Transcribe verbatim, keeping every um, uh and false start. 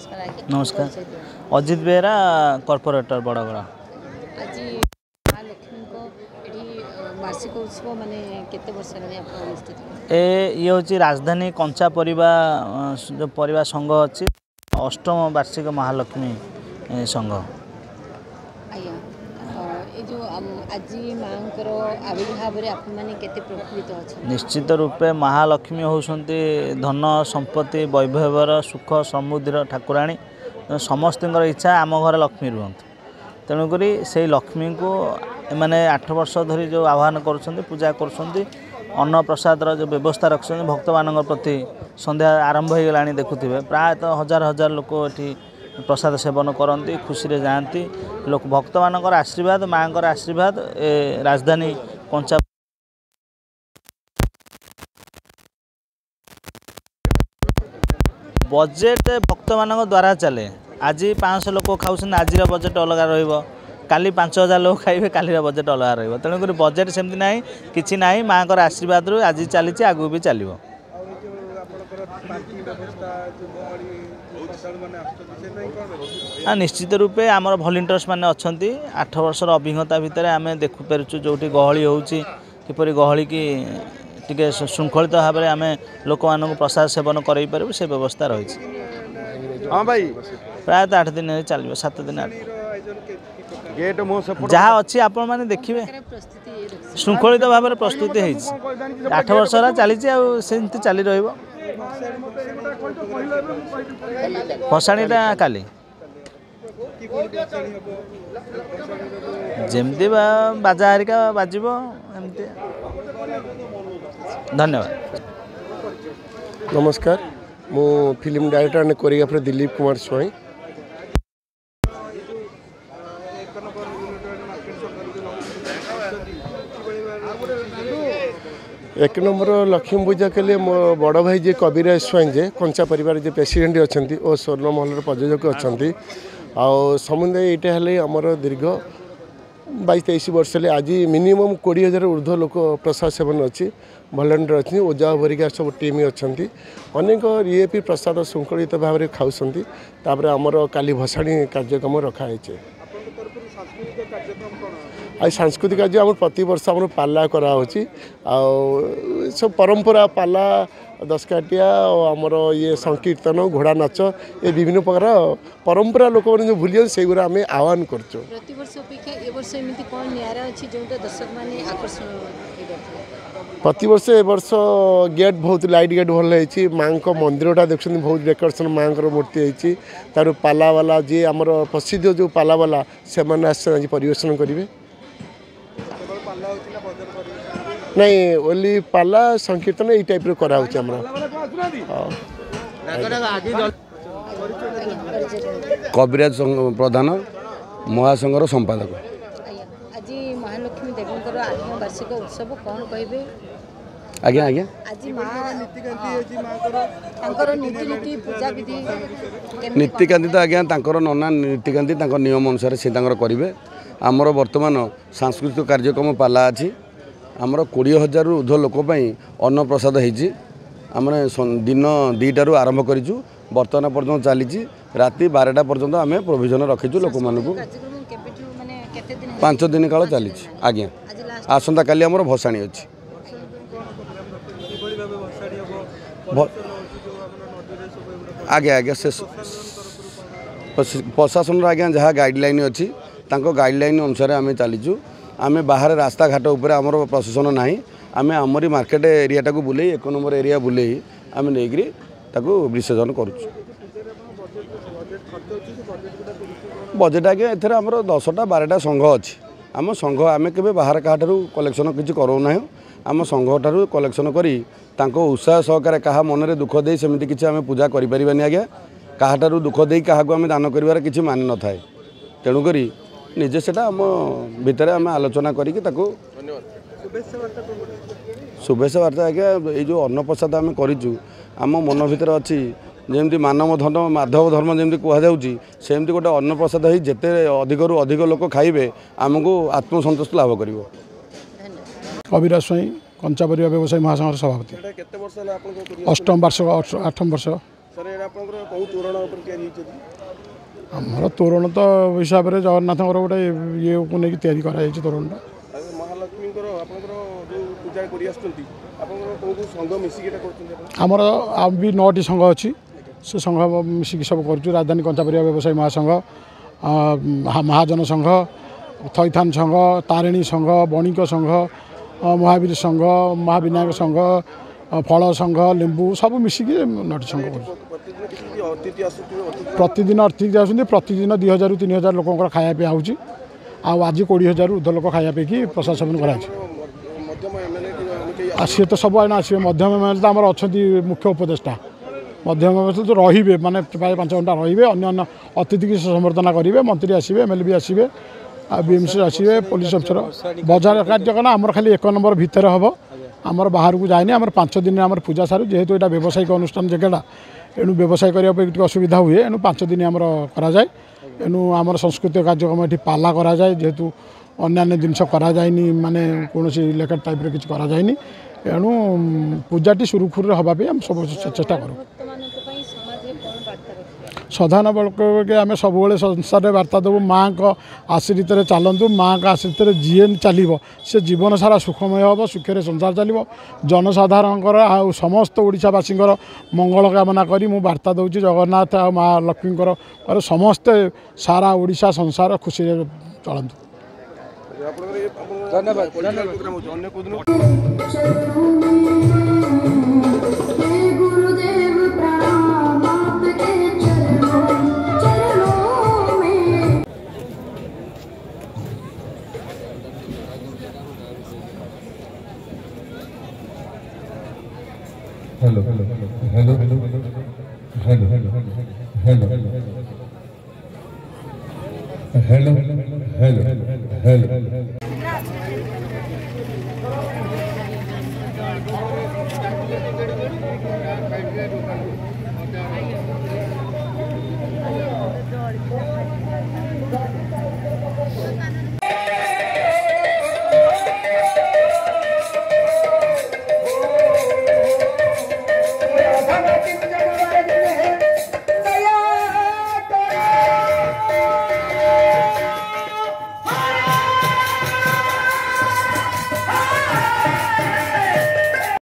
ନମସ୍କାର ଆଜ୍ଞା। ନମସ୍କାର। ପରିଚୟ ଦିଅନ୍ତୁ। ଅଜିତ ବେହେରା, କର୍ପୋରେଟର, ବଡ଼ଗଡ଼। ଆଜି ମା ଲକ୍ଷ୍ମୀଙ୍କ ଏଠି ଅ, ବାର୍ଷିକ ଉତ୍ସବ ମାନେ କେତେ ବର୍ଷ ହେଲାଣି ଆପଣ ଅନୁଷ୍ଠିତ କରୁଛନ୍ତି? ଏ ଇଏ ହେଉଛି ରାଜଧାନୀ କଞ୍ଚା ପରିବା ଅ, ଯେଉଁ ପରିବା ସଂଘ ଅଛି, ଅଷ୍ଟମ ବାର୍ଷିକ ମହାଲକ୍ଷ୍ମୀ ଏ, ସଂଘ। ଆଜ୍ଞା, ଅ, ଏ ଯେଉଁ ଆମ- ଆଜି ମାଙ୍କର ଆବିର୍ଭାବରେ ଆପଣମାନେ କେତେ ପ୍ରଫୁଲ୍ଲିତ ଅଛନ୍ତି? ନିଶ୍ଚିତ ରୂପେ ମହାଲକ୍ଷ୍ମୀ ହେଉଛନ୍ତି ଧନ ସମ୍ପତ୍ତି ବୈଭବର, ସୁଖ ସମୃଦ୍ଧିର ଠାକୁରାଣୀ। ତେଣୁ ସମସ୍ତଙ୍କର ଇଚ୍ଛା ଆମ ଘରେ ଲକ୍ଷ୍ମୀ ରୁହନ୍ତୁ। ତେଣୁକରି ସେଇ ଲକ୍ଷ୍ମୀଙ୍କୁ ଏମାନେ ଆଠ ବର୍ଷ ଧରି ଯେଉଁ ଆହ୍ୱାନ କରୁଛନ୍ତି, ପୂଜା କରୁଛନ୍ତି, ଅନ୍ନପ୍ରସାଦର ଯେଉଁ ବ୍ୟବସ୍ଥା ରଖିଛନ୍ତି ଭକ୍ତମାନଙ୍କ ପ୍ରତି, ସନ୍ଧ୍ୟା ଆରମ୍ଭ ହୋଇଗଲାଣି, ଦେଖୁଥିବେ, ପ୍ରାୟତଃ ହଜାର ହଜାର ଲୋକ ଏଠି ପ୍ରସାଦ ସେବନ କରନ୍ତି, ଖୁସିରେ ଯାଆନ୍ତି। ଲୋକ ଭକ୍ତମାନଙ୍କର ଆଶୀର୍ବାଦ, ମାଆଙ୍କର ଆଶୀର୍ବାଦ। ଏ ରାଜଧାନୀ କଞ୍ଚା ବଜେଟ୍ ଭକ୍ତମାନଙ୍କ ଦ୍ୱାରା ଚାଲେ। ଆଜି ପାଞ୍ଚଶହ ଲୋକ ଖାଉଛନ୍ତି, ଆଜିର ବଜେଟ୍ ଅଲଗା ରହିବ। କାଲି ପାଞ୍ଚ ହଜାର ଲୋକ ଖାଇବେ, କାଲିର ବଜେଟ୍ ଅଲଗା ରହିବ। ତେଣୁକରି ବଜେଟ୍ ସେମିତି ନାହିଁ, କିଛି ନାହିଁ। ମାଆଙ୍କର ଆଶୀର୍ବାଦରୁ ଆଜି ଚାଲିଛି, ଆଗକୁ ବି ଚାଲିବ। ଆଉ ଏ ଯେଉଁ ଆପଣଙ୍କର ପାର୍କିଂ ବ୍ୟବସ୍ଥା, ଯେଉଁ ଗହଳି ଶ୍ରଦ୍ଧାଳୁମାନେ ଆସୁଛନ୍ତି, ସେ ପାଇଁ କ'ଣ ବ୍ୟବସ୍ଥା? ହଁ, ନିଶ୍ଚିତ ରୂପେ ଆମର ଭଲେଣ୍ଟିୟର୍ସ ମାନେ ଅଛନ୍ତି। ଆଠ ବର୍ଷର ଅଭିଜ୍ଞତା ଭିତରେ ଆମେ ଦେଖିପାରୁଛୁ ଯେଉଁଠି ଗହଳି ହେଉଛି, କିପରି ଗହଳିକି ଟିକେ ଶୃଙ୍ଖଳିତ ଭାବରେ ଆମେ ଲୋକମାନଙ୍କୁ ପ୍ରସାଦ ସେବନ କରାଇ ପାରିବୁ, ସେ ବ୍ୟବସ୍ଥା ରହିଛି। ହଁ ଭାଇ। ପ୍ରାୟତଃ ଆଠ ଦିନ ଚାଲିବ, ସାତ ଦିନ ଆଠ। ପାଣିର ଆୟୋଜନ କି କି ପ୍ରକାର? ଗେଟ୍ ମୋ ସେପଟ ଯାହା ଅଛି ଆପଣମାନେ ଦେଖିବେ। ପ୍ରକାର ପ୍ରସ୍ତୁତି ରଖିଛନ୍ତି? ଶୃଙ୍ଖଳିତ ଭାବରେ ପ୍ରସ୍ତୁତି ହେଇଛି। ଆଠ ବର୍ଷ ହେଲା ଚାଲିଛି ଆଉ ସେମିତି ଚାଲି ରହିବ। ଭସାଣିଟା କାଲି। କିଭଳି ଭସାଣି ହେବ? ଭସାଣିର ଯେଉଁ ଯେମିତି ବା ବାଜା ହେରିକା ବାଜିବ ଏମିତି। ଧନ୍ୟବାଦ। ନମସ୍କାର, ମୁଁ film director and choreographer Dilip Kumar Swain. ଏ ଯେଉଁ ଏକ ନମ୍ବର ୟୁନିଟ୍ ମାର୍କେଟ ସଂଘରେ ଯେଉଁ ଲକ୍ଷ୍ମୀ ପୂଜା କରୁଛନ୍ତି, କିଭଳି ଭାବରେ? ଏକ ନମ୍ବର ଲକ୍ଷ୍ମୀ ପୂଜା କଲେ ମୋ ବଡ଼ ଭାଇ ଯିଏ କବିରାଜ ସ୍ୱାଇଁ, ଯେ କଞ୍ଚା ପରିବାର ଯିଏ ପ୍ରେସିଡେଣ୍ଟ ଅଛନ୍ତି ଓ ସ୍ୱର୍ଣ୍ଣମହଲର ପ୍ରଯୋଜକ ଅଛନ୍ତି, ଆଉ ସମୁଦାୟ ଏଇଟା ହେଲେ ଆମର ଦୀର୍ଘ ବାଇଶ ତେଇଶ ବର୍ଷ ହେଲେ। ଆଜି ମିନିମମ୍ କୋଡ଼ିଏ ହଜାର ଉର୍ଦ୍ଧ୍ୱ ଲୋକ ପ୍ରସାଦ ସେବନ ଅଛି। ଭଲେଣ୍ଟିୟର ଅଛନ୍ତି, ଓଜା ଭରିକା ସବୁ ଟିମ୍ ଅଛନ୍ତି, ଅନେକ ଇଏ ବି ପ୍ରସାଦ ଶୃଙ୍ଖଳିତ ଭାବରେ ଖାଉଛନ୍ତି। ତାପରେ ଆମର କାଲି ଭସାଣି କାର୍ଯ୍ୟକ୍ରମ ରଖାହେଇଛି। ଆପଣଙ୍କ ତରଫରୁ ସାଂସ୍କୃତିକ କାର୍ଯ୍ୟକ୍ରମ କ'ଣ? ଆଉ ସାଂସ୍କୃତିକ କାର୍ଯ୍ୟ ଆମର ପ୍ରତିବର୍ଷ ଆମର ପାଲା କରାହେଉଛି, ଆଉ ସବୁ ପରମ୍ପରା ପାଲା, ଦଶକାଠିଆ, ଆଉ ଆମର ଇଏ ସଂକୀର୍ତ୍ତନ, ଘୋଡ଼ା ନାଚ, ଏ ବିଭିନ୍ନ ପ୍ରକାର ପରମ୍ପରା ଲୋକମାନେ ଯେଉଁ ଭୁଲିଯାନ୍ତି, ସେଇଗୁଡ଼ା ଆମେ ଆହ୍ୱାନ କରୁଛୁ। ପ୍ରତିବର୍ଷ ଅପେକ୍ଷା ଏ ବର୍ଷ ଏମିତି କ'ଣ ନିଆରା ଅଛି ଯେଉଁଟା ଦର୍ଶକମାନେ ଆକର୍ଷଣ ହେଇପାରୁଥିଲେ? ପ୍ରତିବର୍ଷ ଏ ବର୍ଷ ଗେଟ୍ ବହୁତ ଲାଇଟ୍ ଗେଟ୍ ଭଲ ହେଇଛି। ମାଆଙ୍କ ମନ୍ଦିରଟା ଦେଖୁଛନ୍ତି, ବହୁତ ଡେକୋରେସନ୍, ମାଆଙ୍କର ମୂର୍ତ୍ତି ହେଇଛି। ତାର ପାଲାବାଲା ଯିଏ ଆମର ପ୍ରସିଦ୍ଧ ଯେଉଁ ପାଲାବାଲା, ସେମାନେ ଆସିଛନ୍ତି, ଆଜି ପରିବେଷଣ କରିବେ। କେବଳ ପାଲା ହେଉଛି ନା ଭଜନ ପରିବେଷଣ? ନାଇଁ, ଓନ୍ଲି ପାଲା, ସଂକୀର୍ତ୍ତନ ଏଇ ଟାଇପ୍ର କରାହେଉଛି ଆମର। ହଉ। ଆଜ୍ଞା, ପରିଚୟ ଦିଅନ୍ତୁ। କବିରାଜ ପ୍ରଧାନ, ମହାସଂଘର ସମ୍ପାଦକ। ଆଜ୍ଞା, ଆଜି ମହାଲକ୍ଷ୍ମୀ ଦେବୀଙ୍କର ଆଠମ ବାର୍ଷିକ ଉତ୍ସବ, କ'ଣ କହିବେ? ଆଜ୍ଞା ଆଜ୍ଞା। ଆଜି ମା ନୀତିକାନ୍ତି ହେଇଛି ମାଙ୍କର, ତାଙ୍କର ନୀତିରୀତି ପୂଜାବିଧି କେମିତି କ'ଣ? ନୀତିକାନ୍ତି ତ ଆଜ୍ଞା ତାଙ୍କର ନନା ନୀତିକାନ୍ତି ତାଙ୍କ ନିୟମ ଅନୁସାରେ ସେ ତାଙ୍କର କରିବେ। ଆମର ବର୍ତ୍ତମାନ ସାଂସ୍କୃତିକ କାର୍ଯ୍ୟକ୍ରମ ପାଲା ଅଛି। ଆମର କୋଡ଼ିଏ ହଜାରରୁ ଉର୍ଦ୍ଧ୍ୱ ଲୋକ ପାଇଁ ଅନ୍ନପ୍ରସାଦ ହେଇଛି। ଆମେ ଦିନ ଦୁଇଟାରୁ ଆରମ୍ଭ କରିଛୁ, ବର୍ତ୍ତମାନ ପର୍ଯ୍ୟନ୍ତ ଚାଲିଛି। ରାତି ବାରଟା ପର୍ଯ୍ୟନ୍ତ ଆମେ ପ୍ରୋଭିଜନ ରଖିଛୁ ଲୋକମାନଙ୍କୁ। କାର୍ଯ୍ୟକ୍ରମ କେବେଠୁ, ମାନେ କେତେ ଦିନ? ପାଞ୍ଚ ଦିନ କାଳ ଚାଲିଛି ଆଜ୍ଞା। ଆଜି ଲାଷ୍ଟ। ଆସନ୍ତାକାଲି ଆମର ଭସାଣି ଅଛି। କିଭଳି ଭାବେ ଭସାଣି ହେବ? ଭ- ପରିବେଷଣ ହେଉଛି ଯେଉଁ ଆମର ନଦୀରେ ସବୁ ଏଗୁଡ଼ା? ଆଜ୍ଞା ଆଜ୍ଞା, ସେ ପ୍ରଶାସନର ଆଜ୍ଞା ଯାହା ଗାଇଡ଼ଲାଇନ୍ ଅଛି, ତାଙ୍କ ଗାଇଡ଼ଲାଇନ୍ ଅନୁସାରେ ଆମେ ଚାଲିଛୁ। ଆମେ ବାହାରେ ରାସ୍ତାଘାଟ ଉପରେ ଆମର ପ୍ରଶାସନ ନାହିଁ। ଆମେ ଆମରି ମାର୍କେଟ ଏରିଆଟାକୁ ବୁଲେଇ, ଏକ ନମ୍ବର ଏରିଆ ବୁଲେଇ ଆମେ ନେଇକରି ତାକୁ ବିସର୍ଜନ କରୁଛୁ। ବଜେଟ୍ ଖର୍ଚ୍ଚ ଅଛି, ସେ ବଜେଟ୍ ଗୁଡ଼ା କେମିତି କ'ଣ? ବଜେଟ୍ ଆଜ୍ଞା ଏଥିରେ ଆମର ଦଶଟା ବାରଟା ସଂଘ ଅଛି। ଆମ ସଂଘ ଆମେ କେବେ ବାହାର କାହାଠାରୁ କଲେକ୍ସନ୍ କିଛି କରାଉନାହୁଁ। ଆମ ସଂଘ ଠାରୁ କଲେକ୍ସନ୍ କରି ତାଙ୍କ ଉତ୍ସାହ ସହକାରେ, କାହା ମନରେ ଦୁଃଖ ଦେଇ ସେମିତି କିଛି ଆମେ ପୂଜା କରିପାରିବାନି ଆଜ୍ଞା। କାହାଠାରୁ ଦୁଃଖ ଦେଇ କାହାକୁ ଆମେ ଦାନ କରିବାର କିଛି ମାନେ ନଥାଏ। ତେଣୁକରି ନିଜେ ସେଟା ଆମ ଭିତରେ ଆମେ ଆଲୋଚନା କରିକି ତାକୁ। ଶୁଭେଚ୍ଛା ବାର୍ତ୍ତା କ'ଣ ଗୋଟେ? ଶୁଭେଚ୍ଛା ବାର୍ତ୍ତା ଆଜ୍ଞା, ଏଇ ଯେଉଁ ଅନ୍ନପ୍ରସାଦ ଆମେ କରିଛୁ, ଆମ ମନ ଭିତରେ ଅଛି ଯେମିତି ମାନବ ଧର୍ମ ମାଧବ ଧର୍ମ ଯେମିତି କୁହାଯାଉଛି, ସେମିତି ଗୋଟେ ଅନ୍ନପ୍ରସାଦ ହେଇ ଯେତେ ଅଧିକରୁ ଅଧିକ ଲୋକ ଖାଇବେ, ଆମକୁ ଆତ୍ମସନ୍ତୋଷ ଲାଭ କରିବ। ଧନ୍ୟବାଦ। କବିରାଜ ସ୍ୱାଇଁ, କଞ୍ଚା ପରିବା ବ୍ୟବସାୟୀ ମହାସଂଘର ସଭାପତି। ଏଇଟା କେତେ ବର୍ଷ ହେଲା ଆପଣଙ୍କ ଅଷ୍ଟମ ବାର୍ଷିକ, ଆଠମ ବର୍ଷ। ସାର୍, ଏଇଟା ଆପଣଙ୍କର କେଉଁ ତୋରଣ ଉପରେ ତିଆରି ହେଇଛି? ଆମର ତୋରଣ ତ ହିସାବରେ ଜଗନ୍ନାଥଙ୍କର ଗୋଟେ ଇଏକୁ ନେଇକି ତିଆରି କରାଯାଇଛି ତୋରଣଟା। ଆଉ ମହାଲକ୍ଷ୍ମୀଙ୍କର ଆପଣଙ୍କର ଯେଉଁ ପୂଜା କରି ଆସୁଛନ୍ତି, ଆପଣଙ୍କର କେଉଁ କେଉଁ ସଂଘ ମିଶିକି ଏଇଟା କରୁଛନ୍ତି ଆପଣ? ଆମର ଆଉ ବି ନଅଟି ସଂଘ ଅଛି, ସେ ସଂଘ ମିଶିକି ସବୁ କରୁଛୁ। ରାଜଧାନୀ କଞ୍ଚା ପରିବା ବ୍ୟବସାୟୀ ମହାସଂଘ, ଆ, ମହାଜନ ସଂଘ, ଥଇଥାନ ସଂଘ, ତାରିଣୀ ସଂଘ, ବଣିକ ସଂଘ, ଅ, ମହାବୀର ସଂଘ, ମହାବିନାୟକ ସଂଘ, ଅ, ଫଳ ସଂଘ, ଲେମ୍ବୁ, ସବୁ ମିଶିକି ନଅଟି ସଂଘ କରୁଛୁ। ପ୍ରତିଦିନ କିଛି କିଛି ଅତିଥି ଆସୁଥିବେ? ଅତିଥି ପ୍ରତିଦିନ ଅତିଥି ଆସୁଛନ୍ତି। ପ୍ରତିଦିନ ଦୁଇ ହଜାରରୁ ତିନି ହଜାର ଲୋକଙ୍କର ଖାଇବା ପିଇବା ହେଉଛି, ଆଉ ଆଜି କୋଡ଼ିଏ ହଜାରରୁ ଉର୍ଦ୍ଧ୍ୱ ଲୋକ ଖାଇବା ପିଇକି ପ୍ରସାଦ ସେବନ କରାଯାଇଛି। ମଧ୍ୟମ ଏମ୍ ଏଲ୍ ଏ କେହି? ଆଉ ସିଏ ତ ସବୁ ଆଇନା ଆସିବେ। ମଧ୍ୟମ ଏମ୍ ଏଲ୍ ତ ଆମର ଅଛନ୍ତି ମୁଖ୍ୟ ଉପଦେଷ୍ଟା। ମଧ୍ୟମ ଏମ୍ ଏଲ୍ ତ ରହିବେ, ମାନେ ପ୍ରାୟ ପାଞ୍ଚ ଘଣ୍ଟା ରହିବେ, ଅନ୍ୟ ଅନ୍ୟ ଅତିଥିକି ସେ ସମ୍ବର୍ଦ୍ଧନା କରିବେ। ମନ୍ତ୍ରୀ ଆସିବେ, ଏମ୍ ଏଲ୍ ବି ଆସିବେ, ଆଉ ବି ଏମ୍ ସି ଆସିବେ, ପୋଲିସ ଅଫିସର। ବଜାର କାର୍ଯ୍ୟକ୍ରମ ଆମର ଖାଲି ଏକ ନମ୍ବର ଭିତରେ ହେବ, ଆମର ବାହାରକୁ ଯାଏନି। ଆମର ପାଞ୍ଚ ଦିନରେ ଆମର ପୂଜା ସାରୁ। ଯେହେତୁ ଏଇଟା ବ୍ୟବସାୟିକ ଅନୁଷ୍ଠାନ ଜାଗାଟା, ଏଣୁ ବ୍ୟବସାୟ କରିବା ପାଇଁ ଟିକେ ଅସୁବିଧା ହୁଏ, ଏଣୁ ପାଞ୍ଚ ଦିନ ଆମର କରାଯାଏ। ଏଣୁ ଆମର ସାଂସ୍କୃତିକ କାର୍ଯ୍ୟକ୍ରମ ଏଠି ପାଲା କରାଯାଏ, ଯେହେତୁ ଅନ୍ୟାନ୍ୟ ଜିନିଷ କରାଯାଏନି, ମାନେ କୌଣସି ଲେଖା ଟାଇପ୍ର କିଛି କରାଯାଏନି। ଏଣୁ ପୂଜାଟି ସୁରୁଖୁରୁରେ ହେବା ପାଇଁ ଆମେ ସବୁ ଚେଷ୍ଟା କରୁ। ଭକ୍ତମାନଙ୍କ ପାଇଁ ସମାଜରେ କ'ଣ ବାର୍ତ୍ତା ରଖିବେ? ସାଧାରଣ ବର୍ଗকে ଆମେ ସବୁବେଳେ ସଂସାରରେ ବାର୍ତ୍ତା ଦେବୁ, ମାଆଙ୍କ ଆଶ୍ରିତରେ ଚାଲନ୍ତୁ। ମାଆଙ୍କ ଆଶ୍ରିତରେ ଯିଏ ଚାଲିବ ସେ ଜୀବନ ସାରା ସୁଖମୟ ହେବ, ସୁଖରେ ସଂସାର ଚାଲିବ। ଜନସାଧାରଣଙ୍କର ଆଉ ସମସ୍ତ ଓଡ଼ିଶାବାସୀଙ୍କର ମଙ୍ଗଳ କାମନା କରି ମୁଁ ବାର୍ତ୍ତା ଦେଉଛି, ଜଗନ୍ନାଥ ଆଉ ମା ଲକ୍ଷ୍ମୀଙ୍କର ସମସ୍ତେ ସାରା ଓଡ଼ିଶା ସଂସାର ଖୁସିରେ ଚଳନ୍ତୁ। ଆପଣଙ୍କର ଏ ଧନ୍ୟବାଦ ପ୍ରୋଗ୍ରାମ ହେଉଛି ଅନ୍ୟ କେଉଁଦିନ? हे गुरुदेव प्रणाम आपके चरणों चरणों में। Hello hello hello hello hello hello hello hello.